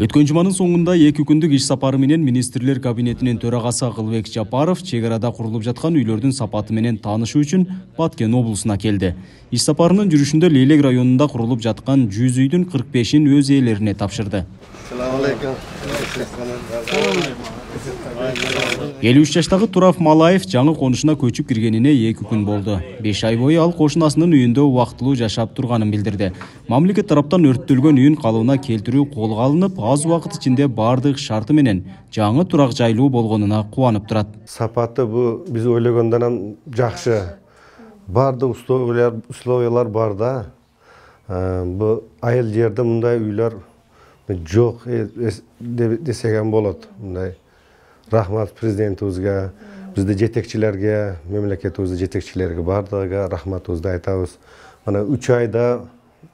Өткөн жуманын соңунда 2 күндүк иш сапары менен министрлер кабинетинин төрагасы Акылбек Жапаров чек арада курулуп жаткан үйлөрдүн сапаты менен таанышуу үчүн Баткен облусуна келди. Иш сапарынын жүрүшүндө Лейлек районунда курулуп жаткан 100 үйдүн 45-ин өз ээлерине тапшырды. 53 жаштагы Турав Малаев жаңы конушуна көчүп киргенине 2 күн болду. 5 ай бою ал кошунасынын үйүндө убактылуу жашап турганын билдирди. Мамлекет тараптан өрттөлгөн үйүн калыбына келтирүү колго алынып, аз убакыт ичинде бардык шарты менен жаңы турак жайлуу болгонуна кубанып турат. Сапаты бу биз ойлогондон жакшы. Бардык условиялар бар да. Бу айыл жерде мындай үйлөр жок десеген болот. Мындай рахмат президентибизге, бизде жетекчилерге, мемлекетибиздин жетекчилерге бардыгыга рахматыбызды айтабыз. Мына 3 айда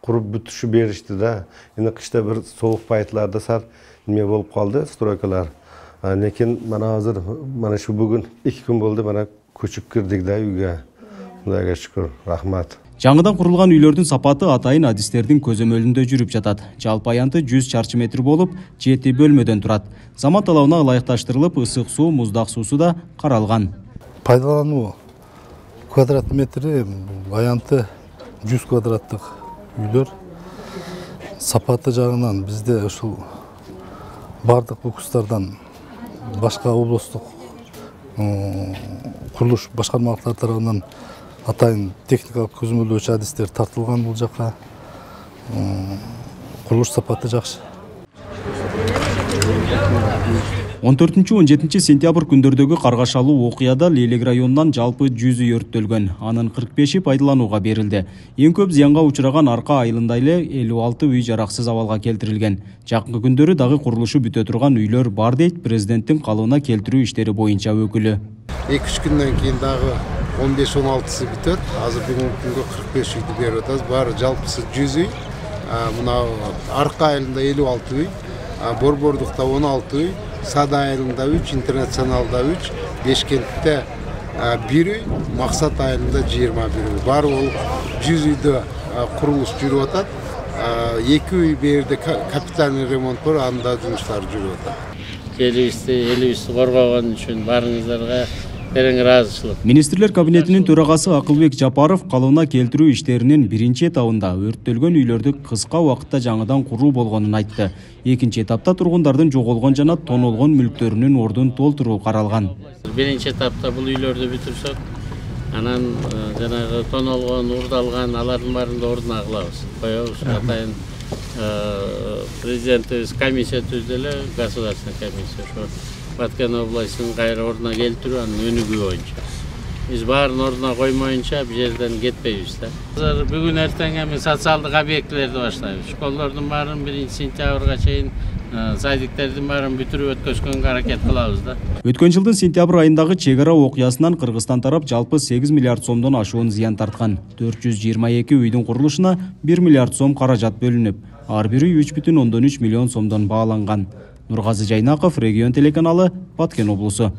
куруп бүтүшү беришти да. Эми кышта бир соок пайтларда сар неме болуп калды, стройкалар. Лекин мына азыр мына шу бүгүн 2 күн болду, мына көчүп кирдик да үйгө. Мындайга шүкүр, рахмат. Жаңыдан курулган үйлөрдүн сапаты атайын адистердин көзөмөлүндө жүрүп жатат. Жалпы аянты 100 чарчы метр болуп, 7 бөлмөдөн турат. Заман талабына ылайыкташтырылып, ысык суу, муздак суусу да каралган. Пайдалануу квадрат метри аянты 100 квадраттык үйлөр. Сапаты жагынан бизде ушул бардык укустардан башка облустук курулуш башкармалыктар тарабынан атайын техникалык көзөмөлдөөчү адистер тартылган бул жака. Курулуш сапаты жакшы. 14-17 сентябрь күндөрдөгү каргашалуу окуяда Лейлек районунан жалпы 100 үй өрттөлгөн. Анын 45-и пайдаланууга берилди. Эң көп зыянга учураган Арка айылында эле 56 үй жараксыз абалга келтирилген. Жакынкы күндөрү дагы курулушу бүтө турган үйлөр бар дейт президенттин калыбына келтирүү иштери боюнча өкүлү. 2-3 күндөн кийин дагы 15-16сы бүтөт. Азыр бүгүнкү күнгө 45 үйдү берип атабыз. Баары жалпысы 100 үй. Мына Арка айылында 56 үй, Борбордукта 16 үй, Сада айылында 3, Интернационалда 3, Бешкентте 1 үй, Максат айылында 21 үй. Баары ол 100 үйдө курулуш жүрүп атат. 2 үй берде капитальный ремонт бар, анда жумуштар жүрүп атат. Элибизди коргогон үчүн баарыңыздарга терең ыраазычылык. Министрлер кабинетинин төрагасы Акылбек Жапаров калыбына келтирүү иштеринин биринчи этабында өрттөлгөн үйлөрдү кыска убакытта жаңыдан куруу болгонун айтты. Экинчи этапта тургундардын жоголгон жана тонолгон мүлктөрүнүн ордун толтуруу каралган. Биринчи этапта бул үйлөрдү бүтүрсөк, анан жанагы тонолгон, урдалган алардын баарын да ордуна кылабыз. Коебуз атайын президентибиз комиссия түздү эле, государственный комиссия. Баткен областынын кайра ордуна келтирүү анын өнүгүү боюнча. Биз баарын ордуна коймоюнча бул жерден кетпейбиз да. Азыр бүгүн эртең эми социалдык объектилерди баштайбыз. Школдордун баарын 1-сентябрга чейин, садиктердин баарын бүтүрүп өткөзгөнгө аракет кылабыз да. Өткөн жылдын сентябрь айындагы чек ара окуясынан Кыргызстан тарап жалпы 8 миллиард сомдон ашуун зыян тарткан. 422 үйдүн курулушуна 1 миллиард сом каражат бөлүнүп, ар бири 3,3 миллион сомдон бааланган. Нургазы Жайнаков, Регион телеканалы, Баткен облусу.